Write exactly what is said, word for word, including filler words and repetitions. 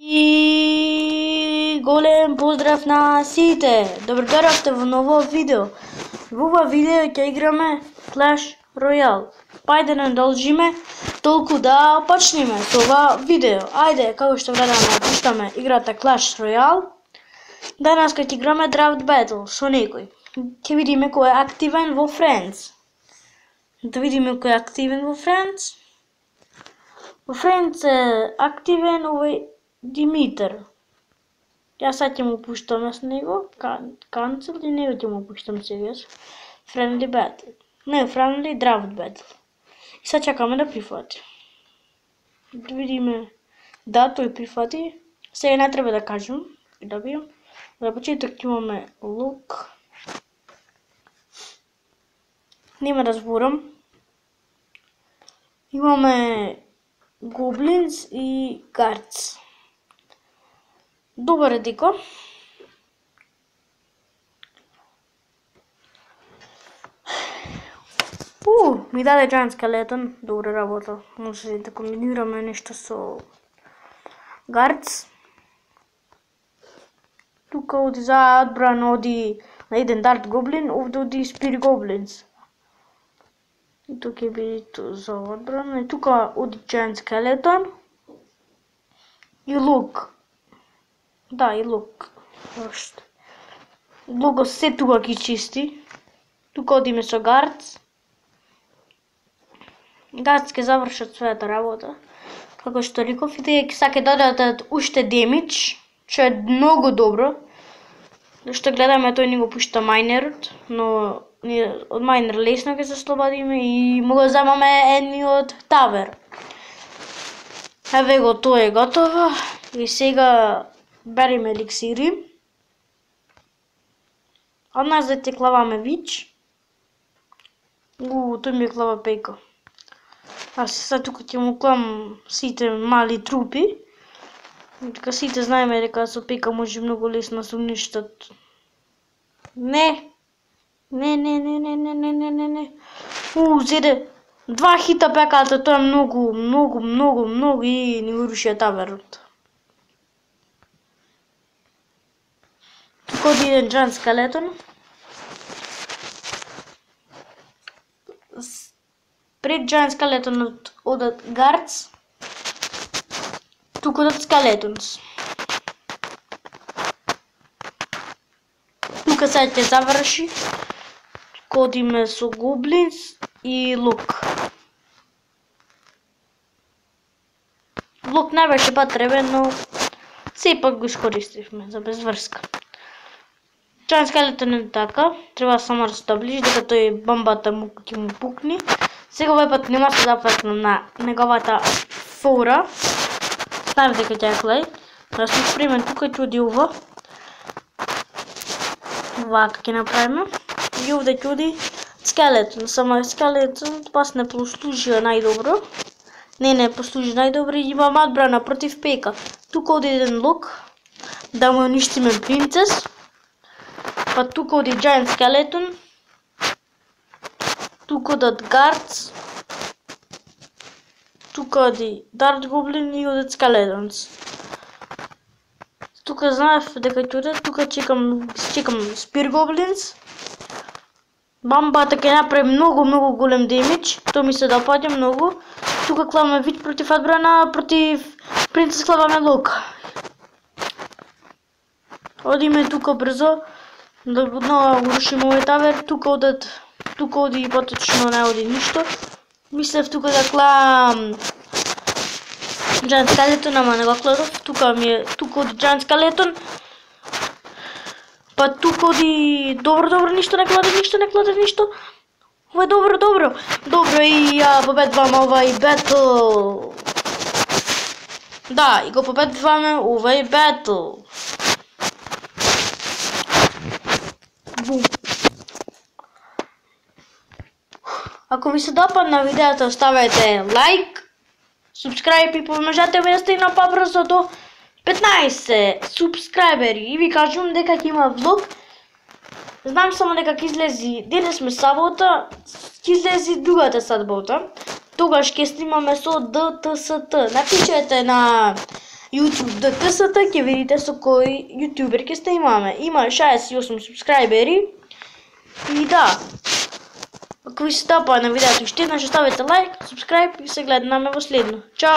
И голем поздрав на сите! Добро дојдовте во ново видео. Во ова видео ќе играме Clash Royale. Па ајде не должиме толку да почнеме со ова видео. Ајде, како што гледаме, пуштаме играта Clash Royale. Данас ќе играме Draft Battle со некој. Ќе видиме кој е активен во Friends. Да видиме кој е активен во Friends. Во Friends е активен овој Димитар. Јас сега ќе му пуштам с него, канцел и него ќе му пуштам сегаш. Friendly Battle. Не, Friendly Draft Battle. И сега чакаме да прифати. Да видиме. Да, тој прифати. Сега не треба да кажем. Да бијам. За почеток имаме лук. Нема да зборам. Имаме Goblins и Guards. Добар е деко. У, ми даде Giant Skeleton, добра работа. Може да комбинираме нешто со Guards. Тука оди за одбрана оди на еден Dart Goblin, овде оди Spear Goblins. И тука ќе биде за одбрана. И тука оди Giant Skeleton. И лук. Да, и лук. Лук се тука ги чисти. Тука одиме со Guards. Guards ќе завршат својата работа. Како што реков, и тие ќе додадат уште демидж, што е многу добро. Зашто гледаме тој ни го пушта майнерот, но ние од майнер лесно ќе се слободиме и му го земаме едниот тавер. Еве го, тоа е готово. И сега береме еликсири. Од нас да те клаваме вич. У, тој ми е клава пейка. Аз сега тука ќе му клам сите мали трупи. Дека сите знаеме дека со пека може многу лесно се уништат. Не. Не, не, не, не, не, не, не, не, не. У, зеде два хита пеката, тоа е многу, многу, многу, многу и ни урушија таверот. Тука оди еден Giant Skeleton. Пред Giant Skeleton одат Guards. Тука одат Skeletons. Тука сега ќе заврши. Тука одиме со Goblins и лук. Лук не беше потребен, но сепак го искористивме за безврска. Giant Skeleton е така, треба само да се доближи, дека тој бомбата му ќе му пукни. Сега овој пат нема се зафркнам на неговата фора. Знаев дека ќе е клей. Да сум спремен, тука ќе оди ова. Вака ќе направиме. И овде ќе оди Skeleton. Само Skeleton пас не послужија најдобро. Не, не послужи најдобро и имам одбрана против пека. Тука оди еден лук. Да му уништиме принцес. Па тука оди Giant Skeleton. Тука одат Guards. Тука оди Dart Goblin и одат Skeletons. Тука знаев дека ќе одат, тука чекам, чекам Spear Goblins. Бамбата ќе направи многу, многу голем демидж, тоа ми се допаѓа многу. Тука клаваме вич против одбрана, против принцес клаваме лук. Одиме тука брзо, да однова урушиме овој тавер, тука одат, тука оди и поточно не оди ништо. Мислев тука да клам Giant Skeleton, ама не го кладов. Тука ми е, тука оди Giant Skeleton. Па тука оди добро, добро, ништо не кладе, ништо не кладе, ништо. Ова е добро, добро. Добро и ја победваме овај бетл. Да, и го победваме овај бетл. Бум. Ако ви се допадна видеото, оставете лайк, subscribe и поможете ми да стигна побрзо до петнаесет субскрайбери. И ви кажувам дека ќе има влог. Знам само дека ќе излези, денес сме сабота, ќе излези другата сабота. Тогаш ќе снимаме со Д Т С Т. Напишете на YouTube ди ти ес-та, ќе видите со кој јутубер ќе снимаме. Има шаесет и осум субскрајбери. И да, ако ви се допаѓа на видеото, уште еднаш ставете лайк, субскрајб и се гледаме во следно. Чао!